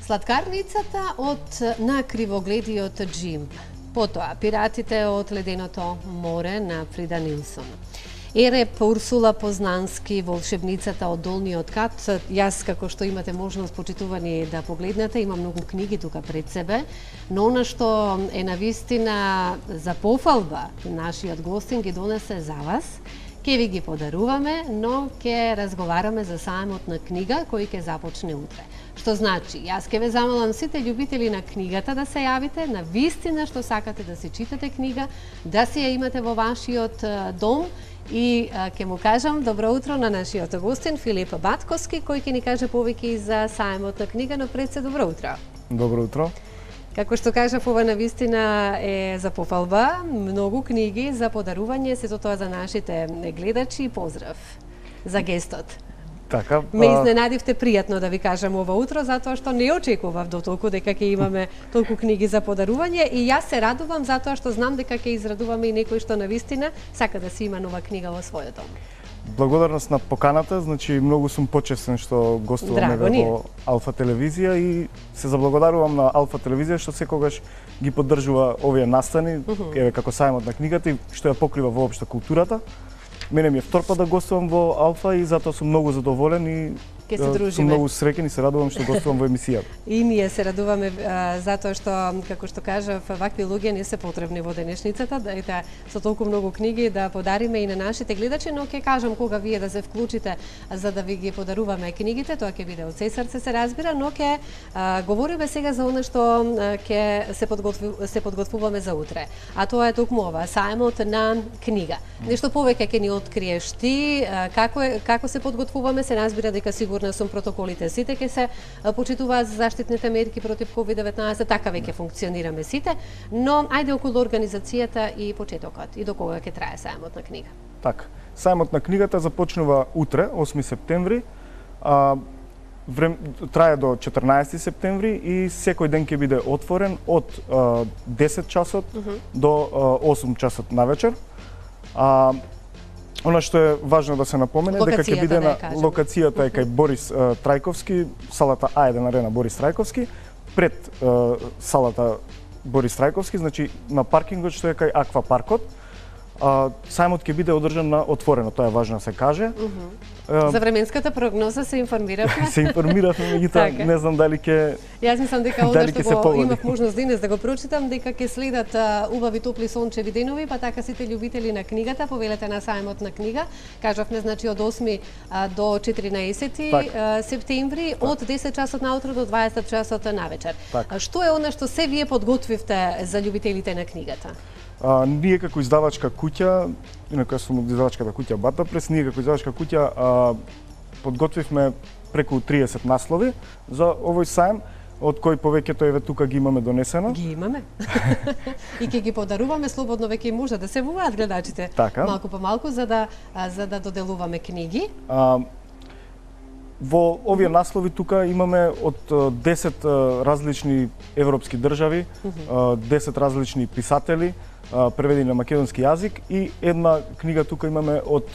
Сладкарницата од на кривогледиот Джим. Потоа, пиратите од леденото море на Фрида Нилсон. Ереп Урсула Познански, волшебницата од Долниот кат. Јас, како што имате можност, почитувани, да погледнете, има многу книги тука пред себе, но она што е навистина за пофалба нашиот гостин ги донесе за вас, ќе ви ги подаруваме, но ќе разговараме за сајмот на книга кој ќе започне утре. Што значи, јас ќе ве замолам сите љубители на книгата да се јавите, на вистина што сакате да се читате книга, да си ја имате во вашиот дом. И ќе му кажам добро утро на нашиот гостин Филип Батковски, кој ќе ни каже повеќе за сајмот на книга, но пред се добро утро. Добро утро. Како што кажав, ова навистина е за пофалба, многу книги за подарување, сето тоа за нашите гледачи и поздрав за гестот. Така, ме изненадивте пријатно да ви кажам ова утро, затоа што не очекував до толку дека ќе имаме толку книги за подарување и јас се радувам затоа што знам дека ќе израдуваме и некој што навистина сака да си има нова книга во својот дом. Благодарност на поканата, значи многу сум почестен што гостуваме во Алфа телевизија и се заблагодарувам на Алфа телевизија што секогаш ги поддржува овие настани, еве како сајмот на книгата и што ја покрива воопшто културата. Мене ми е втор пат да гостувам во Алфа и затоа сум многу задоволен и сум многу среќен и се радувам што гостувам во емисијата. И ние се радуваме затоа што, како што кажав, вакви луѓе не се потребни во денешницата, да со толку многу книги да подариме и на нашите гледачи, но ќе кажам кога вие да се вклучите за да ви ги подаруваме книгите, тоа ќе биде од се срце се разбира, но ќе говориме сега за она што ќе се подготвуваме за утре. А тоа е токму ова, сајмот на книга. Нешто повеќе ќе ни откриеш ти, како се подготвуваме, се разбира дека сигурно сум протоколите сите ќе се почитуваат за заштитните мерки против COVID-19, така веќе функционираме сите, но ајде околу организацијата и почетокот и до кога ќе трае сајмот на книга. Така, сајмот на книгата започнува утре, 8 септември, трае до 14 септември и секој ден ќе биде отворен од 10 часот до 8 часот навечер. Она што е важно да се напомене дека ќе биде на локацијата е кај Борис Трајковски, салата А1 арена Борис Трајковски, пред салата Борис Трајковски, значи на паркингот што е кај Аква паркот. Сајмот ќе биде одржан на отворено, тоа е важно да се каже. За временската прогноза се информиравме. Се информиравме, меѓутоа не знам дали ќе. Јас мислам дека ова што имав можност денес да го прочитам, дека ќе следат убави топли сончеви денови, па така сите љубители на книгата, повелете на сајмот на книга. Кажавме значи од 8 до 14 септември, од 10 часот наутро до 20 часот навечер. Што е она што се вие подготвивте за љубителите на книгата? Ние како издавачка куќа, инаку јас сум од издавачката куќа Бата Прес, ние како издавачка куќа подготвивме преку 30 наслови за овој сајм, од кои повеќето еве тука ги имаме донесено. Ги имаме. И ќе ги подаруваме слободно, веќе може да се вуваат гледачите малку по малку за да доделуваме книги. Во овие наслови тука имаме од 10 различни европски држави, 10 различни писатели, преведени на македонски јазик и една книга тука имаме од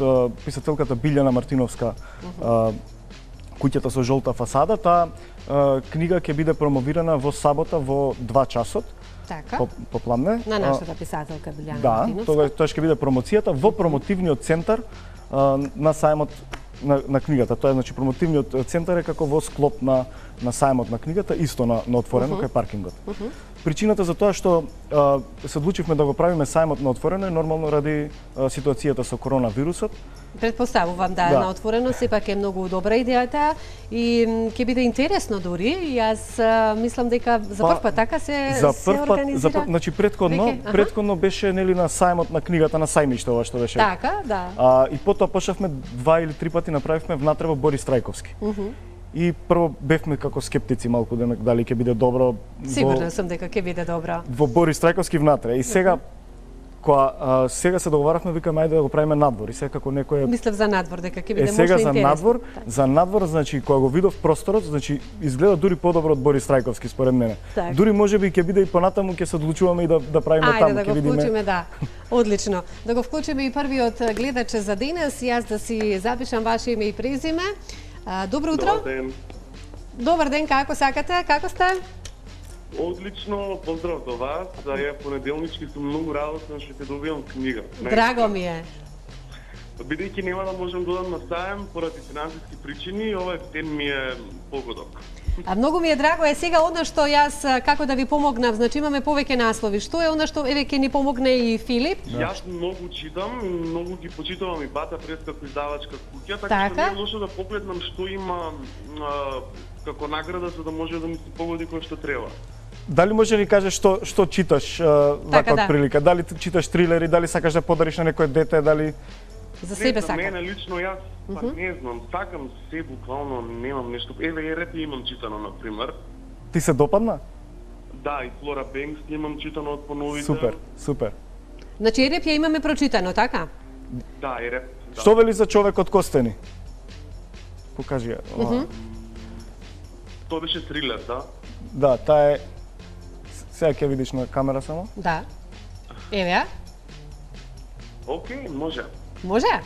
писателката Билјана Мартиновска, Куќата со жолта фасада. Таа книга ќе биде промовирана во сабота во 2 часот. Така. Попладне. На нашата писателка Билјана Мартиновска. Да, тоа ќе биде промоцијата во промотивниот центар на сајмот на книгата. Тоа е значи промотивниот центар е како во склоп на сајмот на книгата, исто на отворено кај паркингот. Причината за тоа што се одлучивме да го правиме сајмот на отворено е нормално ради ситуацијата со коронавирусот. Предпоставувам на отворено сепак е многу добра идејата и ќе биде интересно дури. Јас мислам дека за прв пат така се организира. Значи претходно беше нели на сајмот на книгата на сајмиште ова што беше. Така, да. И потоа почнавме 2 или 3 пати направивме внатре во Борис Трајковски. И прво бевме како скептици малку дали ќе биде добро. Сигурна сум дека ќе биде добро. Во Борис Трајковски внатре. И сега кога сега се договаравме, викаме ајде да го правиме надвор. И сега како некој мислев за надвор дека ќе биде сега за надвор, значи кога го видов просторот, значи изгледа дури подобро од Борис Трајковски според мене. Дури можеби ќе биде и понатаму ќе се одлучуваме и да правиме таму, ќе видиме. Ајде да го вклучиме, да. Одлично. Да го вклучиме и првиот гледач за денес, јас да си запишам ваше име и презиме. Добро утро. Добар ден, како сакате? Како сте? Одлично, поздрав до вас. За ја понеделнички сум многу радосен што ќе добијам книга. Драго ми е. Бидејќи нема да можам да одам на сајм поради финансиски причини, овој ден ми е погодок. А многу ми е драго е сега она што јас како да ви помогнав, значи имаме повеќе наслови. Што е она што еве ќе ни помогне и Филип? Јас многу читам, многу ги почитувам и Бата прес како издавачка куќа, така што не е лошо да погледнам што има како награда за да може да ми се погоди кој што треба. Дали може да ни кажеш што читаш вака од прилика? Дали читаш трилери, дали сакаш да подариш на некое дете, дали за себе сакам? За мене лично јас не знам, сакам се буквално, немам нешто. Еве Ереп имам читано на пример. Ти се допадна? Да, и Флора Бенкс имам читано од поновите. Супер, супер. Значи Ереп ја имаме прочитано, така? Да, Ереп. Да. Што вели за човекот Костени? Покажи ја. Тоа беше трилер, да? Да, таа е. Сега ќе видиш на камера само? Да. Еве ја. Океј, може. Може?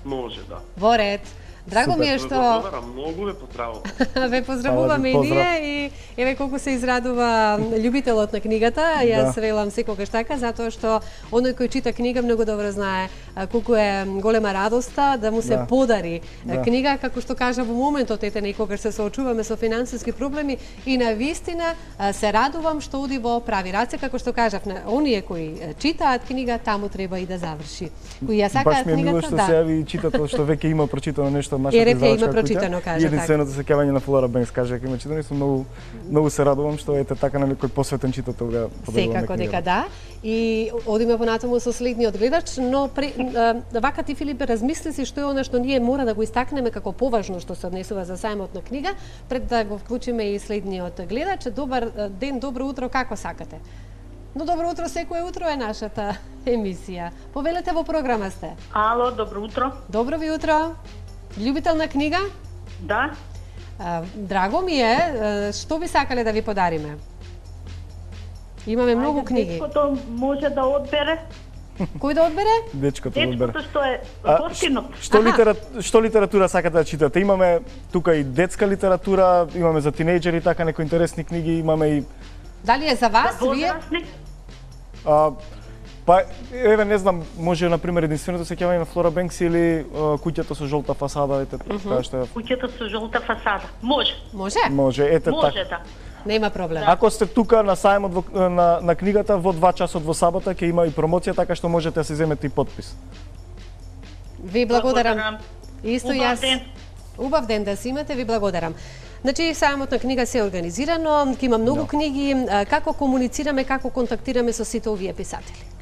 Може, да. Во ред. Драго ми е што многу ве поздравувам. Ве поздравуваме и ние и еве колку се израдува љубителот на книгата. Јас велам секогаш така затоа што оној кој чита книга многу добро знае колку е голема радоста да му се подари книга, како што кажа во моментот ете некогаш се соочуваме со финансиски проблеми и на вистина се радувам што оди во прави раце, како што кажав, оние кои читаат книга таму треба и да заврши. Кои ја сакаат книгата, да. Баш ми е мило што се јави читател што веќе има прочитано нешто. Ереп ја има прочитано, кажа така. Единственото сеќавање на Флора Бенкс каже дека има читано и сум многу се радувам што ете така на некој посветен читател да подаруваме. Секако дека да. И одиме понатаму со следниот гледач, но вака ти Филип размисли си што е она што ние мора да го истакнеме како поважно што се однесува за сајмот на книга, пред да го вклучиме и следниот гледач. Добар ден, добро утро, како сакате? Но добро утро, секое утро е нашата емисија. Повелете во програма сте. Ало, добро утро. Добро ви утро. Љубител на книга? Да. Драго ми е, што би сакале да ви подариме? Имаме многу книги. Дечкото може да одбере. Кој да одбере? Дечкото да одбере. Дечкото што е гостинот. Што литература сакате да читате? Имаме тука и детска литература, имаме за тинејџери така некои интересни книги, имаме и Дали е за вас, вие? Па, еве, не знам, може, например, единственото сеќавање на Флора Бенкс или куќата со жолта фасада, ете, така што... Куќата со жолта фасада. Може. Може? Може, ете така. Може, да. Нема проблем. Ако сте тука на сајмот на книгата, во 2 часот во сабота ќе има и промоција, така што можете да се земете и подпис. Ви благодарам. Исто јас. Убав ден да си имате, ви благодарам. Значи, сајмот на книга се организирано, ќе има многу книги. Како комуницираме, како контактираме со сите овие писатели?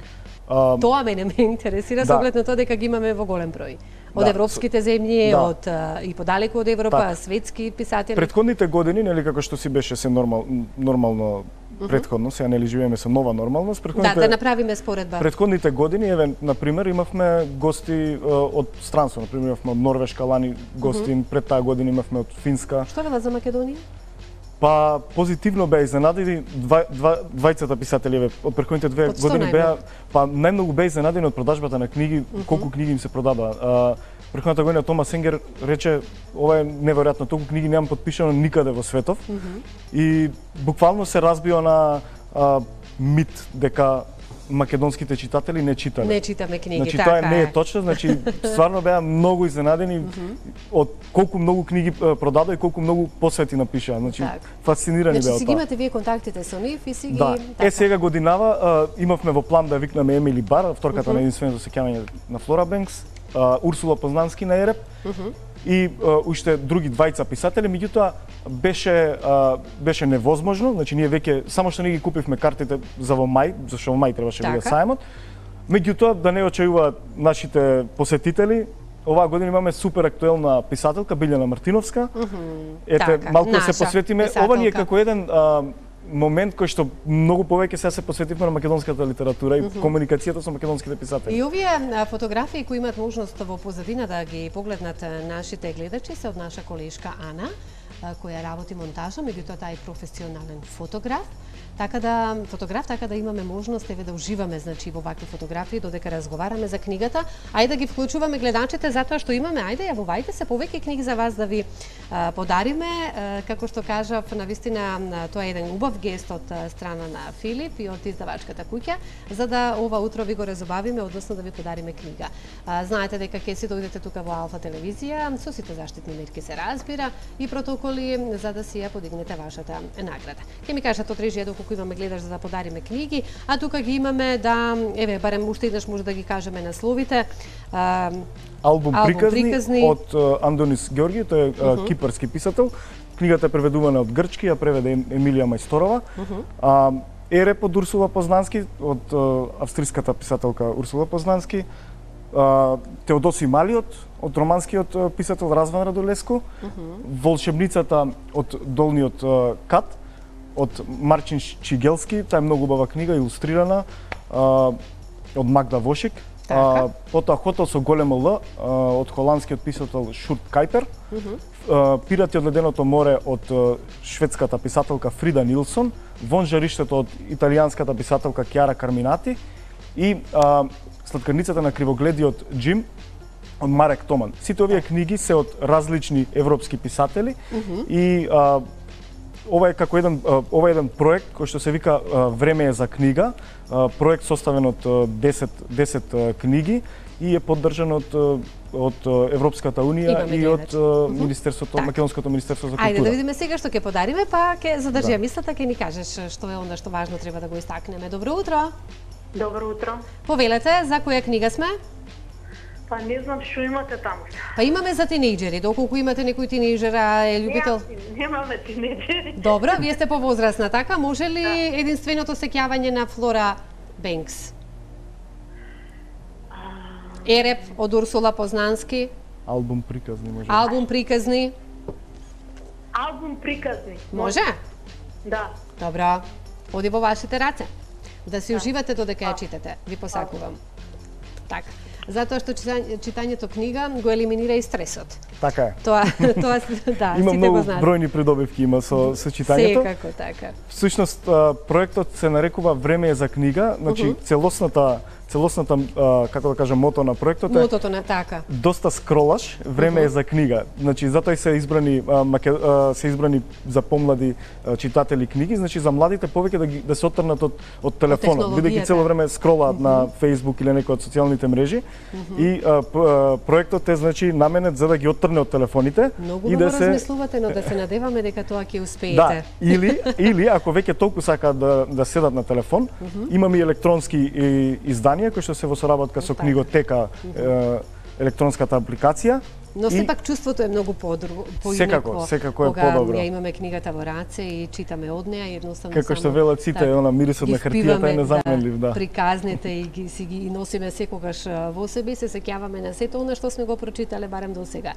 Тоа мене ме интересира, со оглед на тоа дека ги имаме во голем број. Од европските земји, од и подалеку од Европа, светски писатели. Предходните години, нели како што си беше се нормално предходно, сега нели живееме со нова нормалност. Да направиме споредба. Предходните години, еве, на пример, имавме гости од странство, на пример, имавме од Норвешка лани гости, пред таа година имавме од Финска. Што велат за Македонија? Па позитивно беа изненадени двајцата писатели од претходните 2 години беа, па најмногу беа изненадени од продажбата на книги, колку книги им се продадоа. Претходната година Томас Енгер рече ова е неверојатно, толку книги немам подпишано никаде во светов. И буквално се разбива на мит дека македонските читатели не читале. Не читаме книги, значи, така тоа не е точно, значи стварно беа многу изненадени од колку многу книги продадоа и колку многу посвети напишаа. Значи фасцинирани беа од тоа. Значи си ги имате вие контактите со нив и си ги така. Сега годинава имавме во план да викнеме Емили Бар, вторката на единственото сеќавање на Флора Бенкс, Урсула Познански на Ереп. И уште други двајца писатели, меѓутоа беше невозможно, значи ние веќе само што не ги купивме картите за во мај, зашто во мај требаше да биде сајмот. Меѓутоа да не очајуваат нашите посетители, оваа година имаме супер актуелна писателка Билјана Мартиновска. Ете, малку се посветиме, ова ни е како еден момент кој што многу повеќе сега се посветивме на македонската литература и комуникацијата со македонските писатели. И овие фотографии кои имаат можност во позадина да ги погледнат нашите гледачи се од наша колешка Ана, која работи монтажа, меѓутоа таа е професионален фотограф. така да имаме можност да уживаме значи во вакви фотографии додека разговараме за книгата, ајде да ги вклучуваме гледачите затоа што имаме, ајде јавувајте се повеќе книги за вас да ви подариме, како што кажав, навистина тоа е еден убав гест од страна на Филип и од издавачката куќа, за да ова утро ви го разубавиме, односно да ви подариме книга. Знаете дека ќе си дојдете тука во Алфа телевизија, со сите заштитни мерки се разбира и протоколи за да си ја подигнете вашата награда. Ќе ми кажат од режија доколку имаме гледаш за да подариме книги, а тука ги имаме еве барем уште еднаш може да ги кажеме насловите. Албум приказни од Андонис Ѓорги, тој е кипарски писател. Книгата е преведувана од грчки, ја преведе Емилија Мајсторова. Ереп од Урсула Познански, од австриската писателка Урсула Познански. Теодоси Малиот, од романскиот писател Разван Радулеско. Волшебницата од Долниот кат, од Марчин Чигелски, таа е многу убава книга, илустрирана, од Магда Вошик. Потоа Хотел со големо Л, од холандскиот писател Шурт Кајпер. Пирати од леденото море од шведската писателка Фрида Нилсон. Вон жариштето од италијанската писателка Кјара Карминати. И Сладкарницата на кривогледиот Джим од Марек Томан. Сите овие книги се од различни европски писатели и ова е како еден проект кој што се вика Време е за книга, проект составен од 10 книги и е поддржан од Европската унија и од Министерството, Македонското министерство за култура. Ајде да видиме сега што ќе подариме, па ќе задржи мислата, ќе ни кажеш што е онда што важно треба да го истакнеме. Добро утро. Добро утро. Повелете, за која книга сме? Па не знам што имате таму. Па имаме за тинејџери, доколку имате некој тинејџер, е љубител. Немаме тинејџери. Добро, вие сте повозрасна, така? Може ли единственото сеќавање на Флора Бенкс? Ереп од Урсула Познански. Албум приказни може. Албум приказни. Албум приказни. Може? Да. Добро. Оди во вашите раце. Да си уживате додека ја читате. Ви посакувам. Така. Затоа што читањето книга го елиминира и стресот. Така е. Тоа да, има сите многу го знаат. бројни придобивки има со читањето. Секако така. Всушност проектот се нарекува Време е за книга, значи целосната како да кажам мото на проектот е мотото на така. Доста скролаш, време е за книга. Значи затоа и се избрани за помлади читатели книги, значи за младите повеќе да се оттрнат од телефонот, бидејќи цело време скролаат на Facebook или некој од социјалните мрежи. И проектот е значи наменет за да ги оттрне од телефоните и да се размислувате, но да се надеваме дека тоа ќе успеете. Да, или ако веќе толку сакаат да седат на телефон, имаме и електронски изданија кои што се во соработка со книготека, електронската апликација. Но сепак чувството е многу поинако. Секако е подобро. Ја имаме книгата во раце и читаме од неа едноставно. Како што велат сите, она мирисот на хартијата е незаменлив, да. Приказните и ги носиме секогаш во себе и се сеќаваме на сето она што сме го прочитале барем до сега.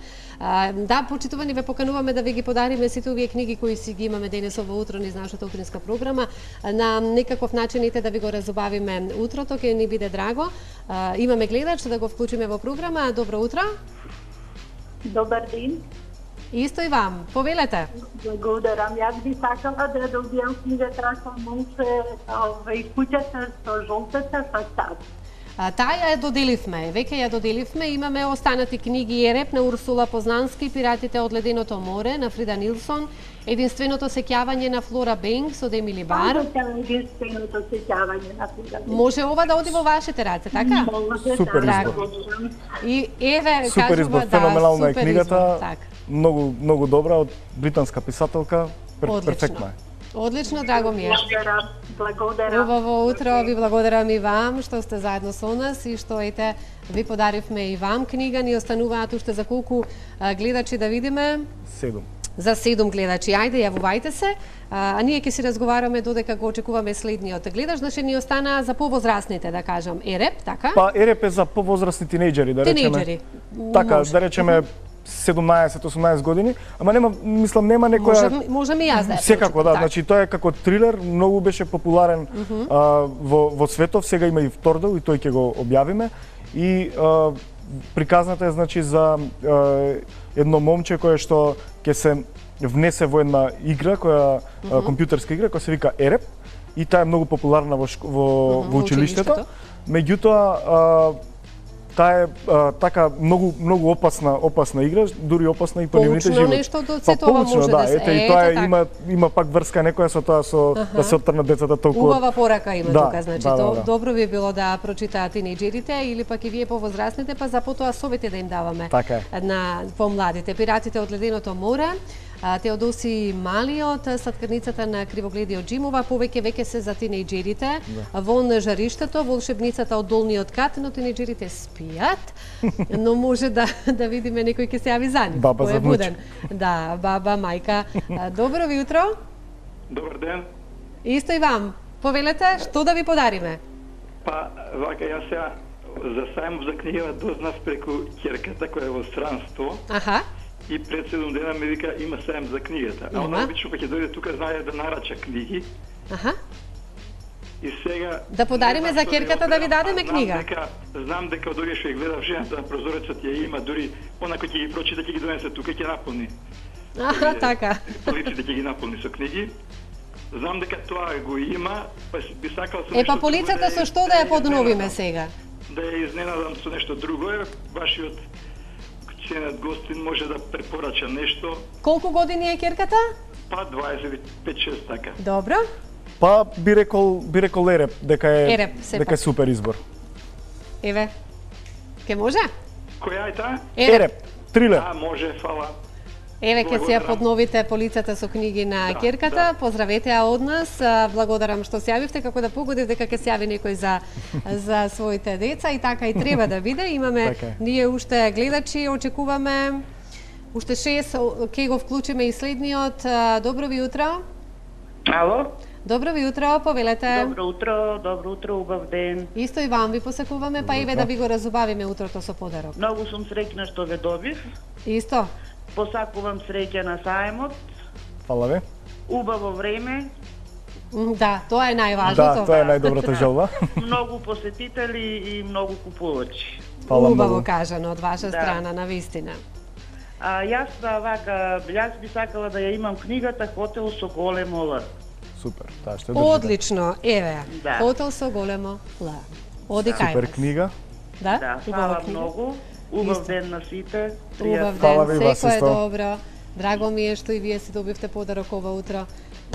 Да, почитувани, ве покануваме да ви ги подариме сите овие книги кои си ги имаме денес во утро низ нашата утринска програма. На некаков начин да ви го разубавиме утрото, ќе ни биде драго. Имаме гледач да го вклучиме во програма. Добро утро. Добар ден. Исто и вам. Повелете. Благодарам. Јас би сакала да добијам книгата со Монсе и куќата со жолтата фасада. Таа ја доделивме, веќе ја доделивме, имаме останати книги Ереп на Урсула Познански, Пиратите од леденото море на Фрида Нилсон, Единственото сеќавање на Флора Бенкс од Емили Бар. Единственото сеќавање на Флора Бенкс. Може ова да оди во вашите раце, така? Супер избор. И еве супер избор, феноменална е книгата, така. Многу добра од британска писателка, перфектна е. Одлично, драго ми е. Благодарам. Убаво утро, ви благодарам и вам што сте заедно со нас и што ви подаривме и вам книга. Ни остануваат уште за колку гледачи да видиме? 7. За 7 гледачи. Ајде, јавувајте се. А ние ќе си разговараме додека го очекуваме следниот гледач. Значи ни остана за повозрасните, да кажам, Ереп, така? Па Ереп е за повозрасни тинејџери, да речеме. Тинејџери. Така, да речеме 17-18 години, ама нема некоја... Можам и јас да. Секако, да, значи тоа е како трилер, многу беше популарен во светов, сега има и втор дел и тој ќе го објавиме. И приказната е значи за едно момче кое што ќе се внесе во една игра, компјутерска игра, која се вика Ереп, и таа е многу популарна во училиштето. Меѓутоа таа е така многу опасна игра, дури опасна и по нивните животи. Поучно нешто од сето ова може да се. И тоа има пак врска некоја со тоа да се оттрнат децата толку. Убава порака има тука, значи добро би било да прочитаат тинејџерите или пак и вие повозрастните, па запотоа совети да им даваме на помладите. Пиратите од леденото море, Теодоси Малиот, сладкарницата на Кривогледиот Џим, ова повеќе веќе се за тинејџерите. Вон жариштето, волшебницата од долниот кат, но тинејџерите спијат, но може да видиме некој ќе се јави за нив. Баба за внуч. Да, баба, мајка. Добро утро. Добар ден. Исто и вам. Повелете, што да ви подариме? Па, вака, јас сега за сајмот за книга дознав преку ќерката која е во странство. Аха. И пред 7 дена ми вика има сајм за книгата. А она обично кога ќе дојде тука знае да нарача книги. Аха. И сега да подариме за ќерката да ви дадеме книга. Знам дека дори што ја гледав жената на прозорецот ја има, дури онако ќе ги прочита, ќе ги донесе тука, ќе наполни. Аха, така. Полиците ќе ги наполни со книги. Знам дека тоа го има, па би сакал со па полицата со што да ја подновиме сега? Да ја изненадам со нешто друго, вашиот ценет гостин може да препорача нешто. Колку години е ќерката? Па 25-6 така. Добро. Па би рекол Ереп, дека е супер избор. Еве. Ке може? Која е таа? Ереп. Трилер. Може, фала. Еве ке се ја подновите полицата со книги на ќерката. Поздравете ја од нас. Благодарам што се јавивте, како да погодив дека ќе се јави некој за своите деца и така и треба да биде. Имаме ние уште гледачи, очекуваме уште 6, ке го вклучиме и следниот. Добро ви утро. Ало? Добро ви утро, повелете. Добро утро, убав ден. Исто и вам ви посакуваме, па еве да ви го разубавиме утрото со подарок. Многу сум среќна што ве добив. Исто. Посакувам среќа на сајмот. Фала ви. Убаво време. Да, тоа е најважното. Да, тоа е најдобрата желба. Многу посетители и многу купувачи. Убаво кажано од ваша страна, навистина. Јас би сакала да ја имам книгата Хотел со големо Л. Супер, таа што држи. Одлично, еве. Хотел со големо Л. Оди кај. Супер книга. Да, фала многу. Убав ден на сите. Убав ден, секој е добро. Драго ми е што и вие си добивте подарок ова утро.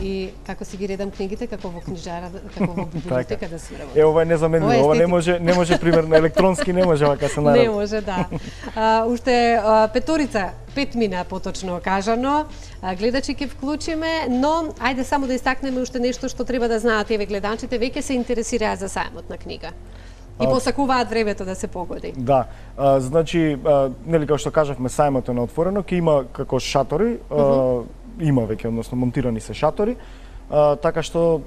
И како си ги редам книгите, како во книжара, како во библиотека да се работи. Ова е незаменливо, ова не може примерно електронски не може вака се наради. Не може, да. Уште петорица, 5 мина поточно кажано. Гледачи ќе вклучиме, но ајде само да истакнеме уште нешто што треба да знаат еве гледачите, веќе се интересираат за сајмот на книга. И посакуваат времето да се погоди. Да, значи, нели како што кажавме, сајмот е на отворено, ќе има како шатори, има веќе, односно монтирани се шатори, така што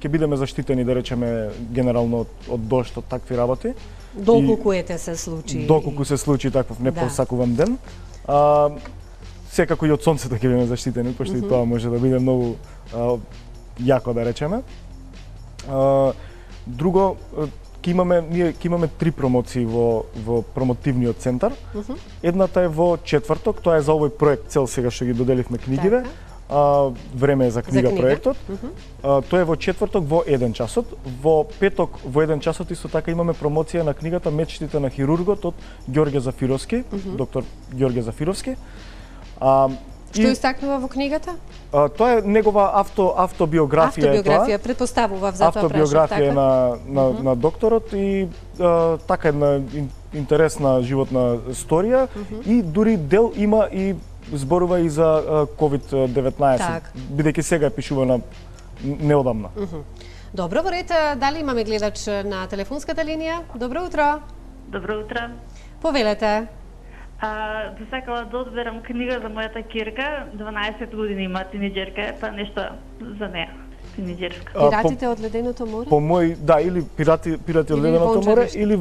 ќе бидеме заштитени, да речеме, генерално од дожд, од такви работи. Доколку се случи. Доколку се случи таков непосакуван ден. Секако и од сонцето ќе бидеме заштитени, пошто и тоа може да биде многу јако, да речеме. Друго, ние ќе имаме 3 промоции во промотивниот центар. Едната е во четврток, тоа е за овој проект цел сега што ги доделивме книгиве. Време е за книга проектот. Тоа е во четврток во 1 часот. Во петок во 1 часот исто така имаме промоција на книгата Мечтите на хирургот од Ѓорѓе Зафировски, доктор Ѓорѓе Зафировски. Што истакнува во книгата? Тоа е негова автобиографија. Автобиографија, предпоставував за тоа прашав. Автобиографија на докторот и така една интересна животна сторија и дури дел има и зборува и за COVID-19, бидејќи сега е пишувана неодамна. Добро, во ред, дали имаме гледач на телефонската линија? Добро утро. Добро утро. Повелете. Би сакала да одберам книга за мојата ќерка, 12 години има, тинеџерка, па нешто за неа, тинеџерска. Пиратите од леденото море? По мој, да, или пирати од леденото море, или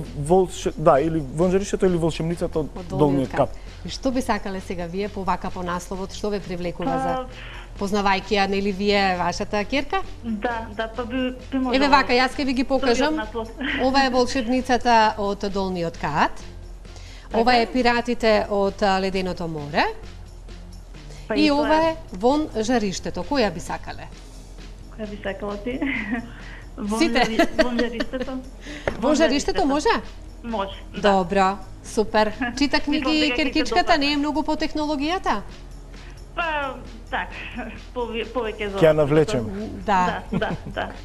вонжаришето или волшебницата од долниот кап. И што би сакале сега вие по насловот, што ве привлекува за познавајќи ја, нели вие вашата ќерка? Да, па би можела. Еве вака, јас ќе ви ги покажам. Ова е волшебницата од долниот кат. Ова е пиратите од леденото море. И ова е вон жариштето. Која би сакале? Која би сакала ти? Сите. Бомжариштето. Бомжариштето може? Може. Добро, супер. Чита книги Киркичката, не е многу по технологијата? Па, так, повеќе за... Ќе ја навлечем. Да.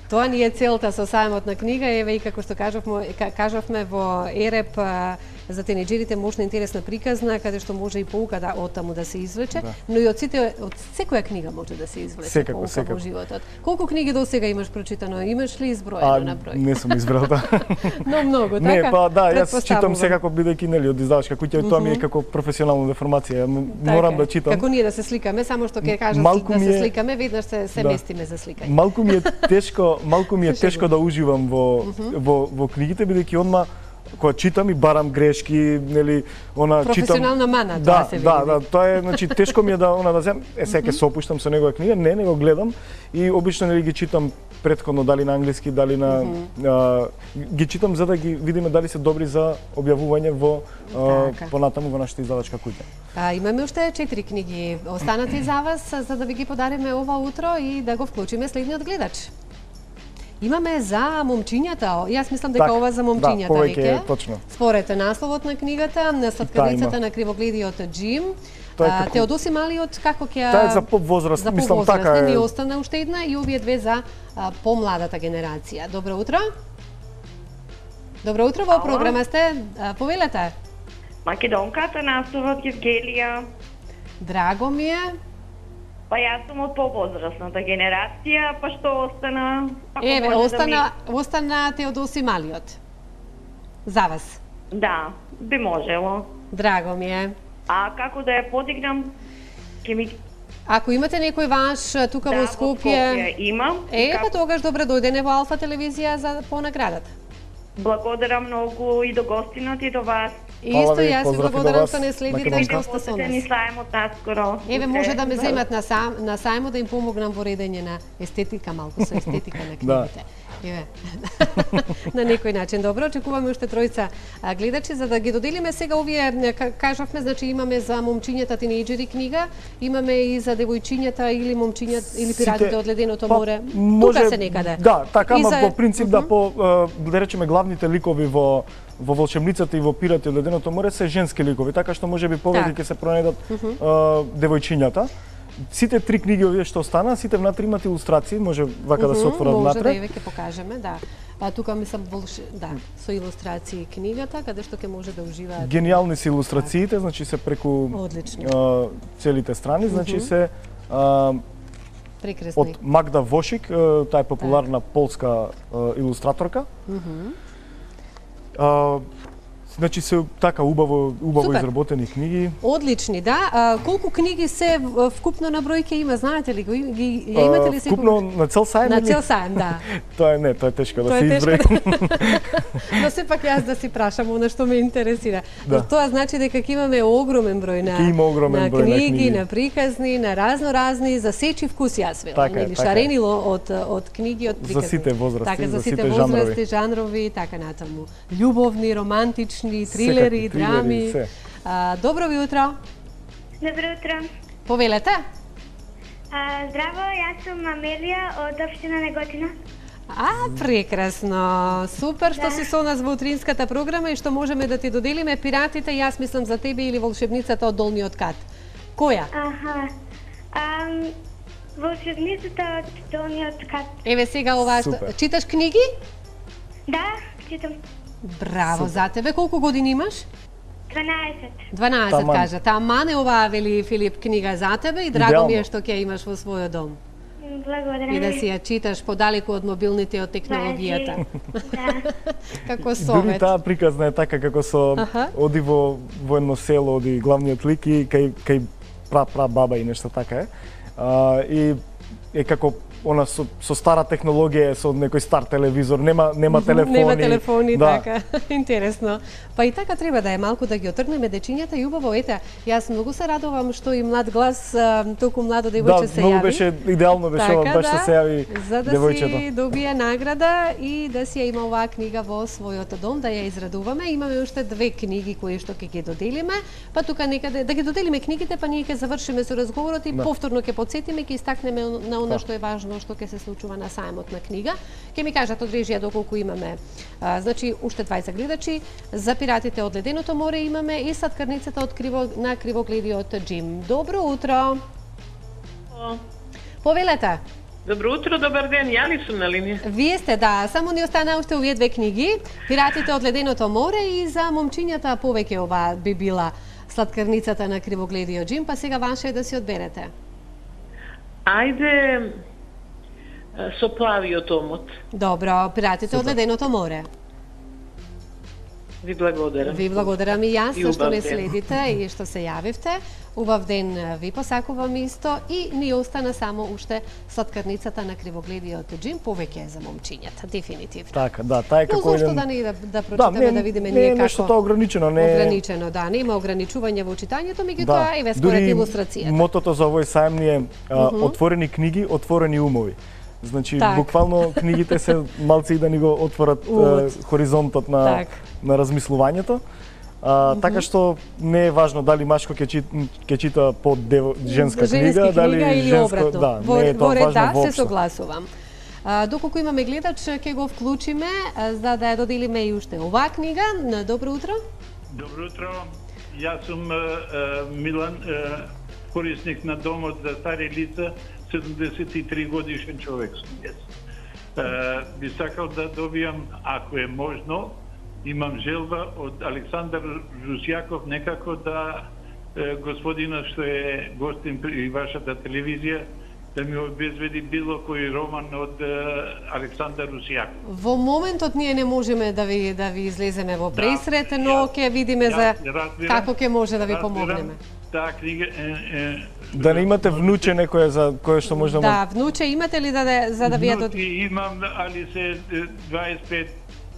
Тоа ни е целта со сајмот на книга, еве и како што кажавме во ЕРЕП за тинеџерите можна интересна приказна, каде што може и поука од таму да се извлече, но и од секоја книга може да се извлече поука во животот. Колку книги досега имаш прочитано? Имаш ли изброено на број? Не сум избрал, да. Но многу, така? Не, па да, јас читам секако бидејќи нели од издавачка куќа, тоа ми е како професионална деформација. Морам да читам. Како ние да се сликаме, само што ќе кажам да се сликаме, веднаш се местиме за сликање. Малку ми е тешко да уживам во книгите, бидејќи одма кога читам и барам грешки, нели, читам. Професионална мана, тоа се види. Да, тоа е, значи тешко ми е да да земам, сега ќе се опуштам со негова книга, не го гледам и обично нели ги читам претходно дали на англиски, дали на ги читам за да ги видиме дали се добри за објавување во понатаму во нашата издавачка куќа. Имаме уште 4 книги останати за вас за да ви ги подариме ова утро и да го вклучиме следниот гледач. Имаме за момчињата. Јас мислам дека ова за момчињата веќе. Точно. Според насловот на книгата, на сладкавицата на кривогледиот Џим, Теодоси Малиот како ќе Таа е за поп возраст, мислам така е. Ни остана уште една и овие две за помладата генерација. Добро утро. Добро утро, во програма сте. Повелете. Македонката, насловот Евгелија. Драго ми е. Па јас сум од повозрастната генерација, па што остана? Еве, остана Теодоси Малиот. За вас. Да, би можело. Драго ми е. А како да ја подигнам? Ако имате некој ваш тука во Скопје... имам. Па тогаш добре дојдене во Алфа телевизија за по наградата. Благодарам многу и до гостинот и до вас. Исто јас ви благодарам што не следите што сте со нас. Ни сајмот наскоро. Еве може да ме земат на сајмот да им помогнам во редење на естетика, малку со естетика на книгите. Еве. На некој начин. Добро, очекуваме уште тројца гледачи за да ги доделиме сега овие кажавме, значи имаме за момчињата тинејџери книга, имаме и за девојчињата или момчињата или пиратите од леденото море. Тука се некаде. Да, така, ама по принцип да да речеме главните ликови во волшебницата и во пирати од леденото море се женски ликови, така што можеби повеќе ќе се пронајдат девојчињата. Сите три книги овие што остана, сите внатре имаат илустрации, може вака да се отворат внатре. Може да еве ќе покажеме, да. Тука мислам со илустрации книгата, каде што ќе може да уживаат. Гениални се илустрациите, значи се преку целите страни, значи се прекрасни. Од Магда Вошик, таа е популарна полска илустраторка. Значи се така убаво изработени книги. Одлични, да. Колку книги се вкупно на број ќе има, знаете ли го? Ја имате ли секој? Вкупно на цел сајм? На цел сајм, да. Тоа е тешко да се изброи. Но сепак јас да си прашам она што ме интересира. Тоа значи дека ќе имаме огромен број на книги, на приказни, на разни за сечи вкус, јас велам, или шаренило од книги, од приказни. За сите возрасти, за сите возрасти, жанрови, така натаму. Љубовни, романтични, трилери, драми. Добро ви утро. Добро утро. Повелете. Здраво, јас сум Амелија од општина Неготина. Прекрасно. Супер што си со нас во утринската програма и што можеме да ти доделиме пиратите, јас мислам за тебе или волшебницата од Долниот кат. Која? Волшебницата од Долниот кат. Еве сега ова читаш книги? Да, читам. Браво за тебе. Колку години имаш? 12 кажа. Тамане оваа вели Филип книга за тебе и драго ми е што ќе имаш во својот дом. Благодарам. И да си ја читаш подалеку од мобилните и од технологијата. Како совет. Дури таа приказна е така како со оди во едно село, оди главниот лик и кај баба и нешто така е. И е како она со стара технологија, со некој стар телевизор, нема телефони. Нема телефони, така. Интересно. Па и така треба да е малку да ги отргнеме дечињата и убаво, ете, јас многу се радувам што и млад глас, толку младо девојче се јави. Да, многу беше идеално беше баш што се јави девојчето. За да си добие награда и да си ја има оваа книга во својот дом, да ја израдуваме. Имаме уште две книги кои што ќе ги доделиме, па тука некаде да ги доделиме книгите, па ние ќе завршиме со разговорот и повторно ќе потсетиме, ќе истакнеме на она што е важно оно што ќе се случува на сајмот на книга. Ќе ми кажат од режија доколку имаме, значи уште 20 гледачи, за пиратите од леденото море имаме и сладкарницата од на кривогледиот Джим. Добро утро. Повелете. Добро утро, добар ден, ја ли сум на линија? Вие сте, да, само ни остана уште овие две книги, Пиратите од леденото море и за момчињата повеќе ова би била Сладкарницата на кривогледиот Джим, па сега ваше е да си одберете. Ајде со плавиот омот. Добро, Пиратите од леденото море. Ви благодарам. Ви благодарам и јас што не следите и што се јавивте. Убав ден ви посакувам исто и ни остана само уште Сладкарницата на кривогледиот Джим, повеќе за момчињата, дефинитивно. Така, да, тај како еден... Зошто да не да прочитаме, да видиме ние како... Не, нешто тоа ограничено, не... Ограничено, да, нема ограничување во читањето, меѓутоа еве според илустрацијата. Дури мотото за овој сајм ни е отворени книги, отворени умови. Значи, буквално книгите се малци и да ни го отворат хоризонтот на размислувањето. Така што не е важно дали машко ќе чита по женска книга, дали или женско, обратно. да, не е тоа важно воопшто. Се согласувам. Доколку имаме гледач, ќе го вклучиме за да ја доделиме и уште оваа книга. Добро утро. Добро утро. Јас сум Милан, корисник на домот за стари лица, 73 годишен човек сум јас. Би сакал да добијам, ако е можно, имам желба од Александар Русјаков некако да господинот што е гостин при вашата телевизија да ми обезбеди било кој роман од Александар Русјаков. Во моментот ние не можеме да ви излеземе во пресрет, но ќе видиме за како ќе може да ви помогнеме. Таа книга да не имате внуче некој за кое што може да Да, внуче имате ли за да ви ја внуци имам, али се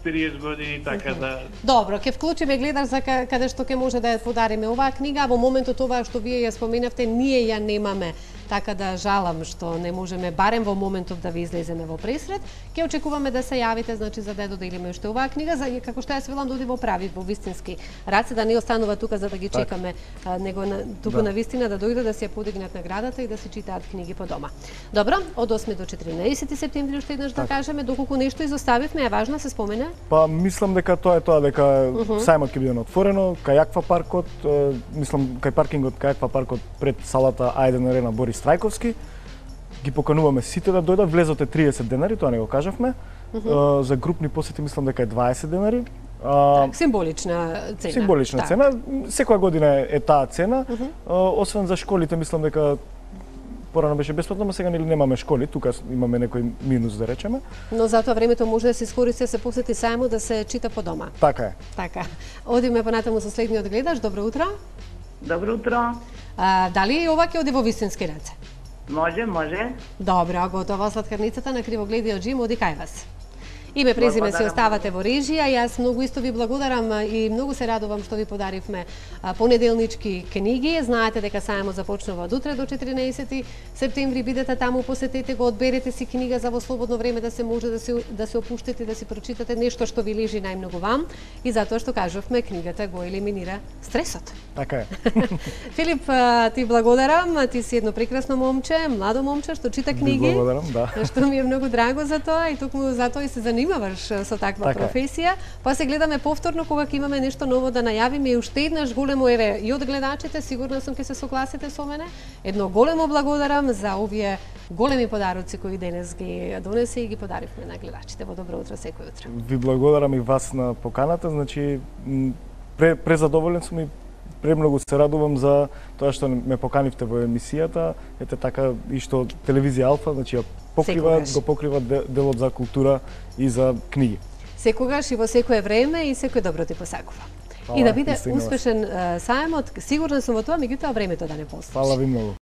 25-30 години, така да... Добро, ќе вклучиме гледач за каде што ќе може да ја подариме оваа книга, а во моментот ова што вие ја споменавте, ние ја немаме. Така да жалам што не можеме барем во моментот да ви излеземе во пресрет. Ќе очекуваме да се јавите, значи за да ја доделиме уште оваа книга, за како што јас велам да оди во прави, во вистински раце, да не останува тука за да ги чекаме, него туку на вистина да дојде да се ја подигнат наградата и да се читаат книги по дома. Добро, од 8 до 14 септември уште еднаш да кажеме, доколку нешто изоставивме, е важно се спомене? Па мислам дека тоа е тоа, дека сајмот ќе биде отворено, кај Аква паркот, мислам кај паркингот кај Аква паркот пред салата Ајден Арена Борис Трајковски. Ги покануваме сите да дојдат, влезот е 30 денари, тоа не го кажавме. За групни посети мислам дека е 20 денари. Символична цена. Символична цена. Секоја година е таа цена. Освен за школите, мислам дека порано беше бесплатно, но сега немаме школи, тука имаме некој минус да речеме. Но затоа времето може да се искористи да се посети сајмот, да се чита по дома. Така е. Така. Одиме понатаму со следниот гледач. Добро утро. Добро утро. Дали ова ќе оди во вистински раце? Може. Добро, готова Сладкарницата на кривогледиот Джим, оди кај вас. Име, презиме се оставате во режија. Јас многу исто ви благодарам и многу се радувам што ви подаривме понеделнички книги. Знаете дека сајмот започнува од утре до 14 септември. Бидете таму, посетете го, одберете си книга за во слободно време да се може да се опуштите, да си прочитате нешто што ви лежи најмногу вам. И затоа што кажавме, книгата го елиминира стресот. Така е. Филип, ти благодарам. Ти си едно прекрасно момче, младо момче што чита книги. Благодарам, да. Што ми е многу драго за тоа и токму затоа и се занимаваш со таква професија. Па се гледаме повторно кога ќе имаме нешто ново да најавиме и уште еднаш големо еве и од гледачите, сигурна сум ќе се согласите со мене. Едно големо благодарам за овие големи подароци кои денес ги донесе и ги подаривме на гледачите. Во добро утро секој утро. Ви благодарам и вас на поканата, значи презадоволен сум и премногу се радувам за тоа што ме поканивте во емисијата. Ете така и што телевизија Алфа, значи го покрива делот за култура и за книги. Секогаш и во секое време и секој добро ти посакува. И да биде успешен сајмот, сигурна сум во тоа, меѓутоа времето да не постои. Фала ви многу.